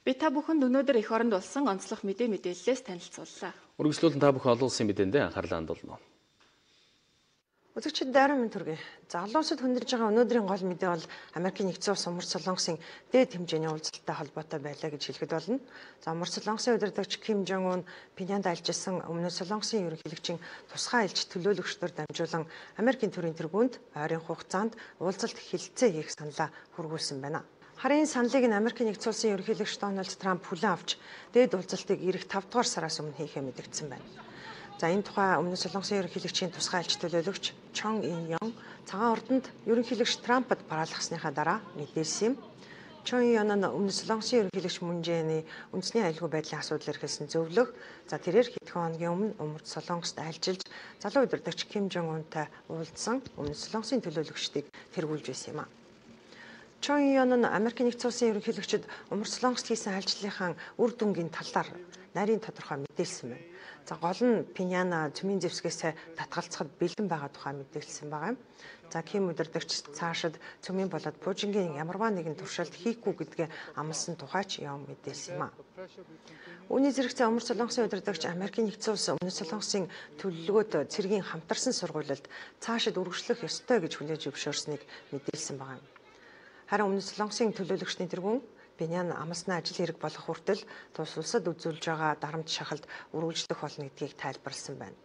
Би та бүхэнд өнөөдөр эх оронд болсон онцлог мэдээллээс танилцууллаа. Үргэлжлүүлэн та бүхэн олон улсын мэдээндээ анхаарлаа хандуулна. Үзэгчид дайран минь төргий. За олон улсад хүндэрж байгаа өнөөдрийн гол мэдээ бол Америкийн нэгдсэн улс Умар Солонгосын дээд хэмжээний уулзалттай холбоотой байлаа гэж хэлэхэд болно. За Умар Солонгосын удирдагч Ким Жонг Ун Пинянд альжилсан Өмнөд Солонгосын ерөнхийлөгчийн тусгай айлч төлөөлөгчдөр дамжуулан Америкийн төрийн тэргуунд ойрын хугацаанд уулзалт хэлэлцээ хийх саналаа хүргүүлсэн байна. Харин саналыг нь Америкийн нэгдсэн улсын ерөнхийлөгч Дональд Трамп хүлээн авч дээд уулзалтыг ирэх 5 дугаар сараас өмнө хийхээ мэдгдсэн байна. За энэ тухай Өмнөд Солонгосын ерөнхийлөгчийн тусгай айлч төлөөлөгч Чон Ин Ён цагаан ордонд ерөнхийлөгч Трампад бараалгасныхаа дараа мэдээлсэн юм. Чон Ин Ён нь Өмнөд Солонгосын ерөнхийлөгч Мун Жэ-ийн үндэсний аюулгүй байдлын асуудал эрхэлсэн зөвлөх. За тэрээр хэдхэн хоногийн өмнө Умар Солонгост альжилж залуу удирдагч Ким Жонг Унтай уулзсан Өмнөд Солонгосын төлөөлөгчдийг тэргүүлж байсан юм а. Чон Ин Ён нь Америкийн нэгдсэн улсын ерөнхийлөгчид Умар Солонгост хийсэн альчлалынхаа үр дүнгийн талаар нарийн тодорхой мэдээлсэн байна. За гол нь Пиняна цөмийн зэвсгээс татгалзахад бэлэн байгаа тухай мэдээлсэн байгаа юм. За Ким удирдагч цаашид цөмийн болоод Пужингийн ямарваа нэгэн туршилт хийхгүй гэдгээ амласан тухайч Ён мэдээлсэн юм а. Үүний зэрэгцээ Умар Солонгосын удирдагч Америкийн нэгдсэн улс Өмнөд Солонгосын төлөвлөгөөд цэргийн хамтарсан сургуульд цаашид үргэлжлэх ёстой гэж хүлээж зөвшөөрснийг мэдээлсэн байгаа юм. Харин Өмнөд Солонгосын төлөөлөгчний тэргүүн Пинян амласны ажил хэрэг болох хүртэл тус улсад үзүүлж байгаа дарамт шахалт үргэлжлэх болно гэдгийг тайлбарласан байна.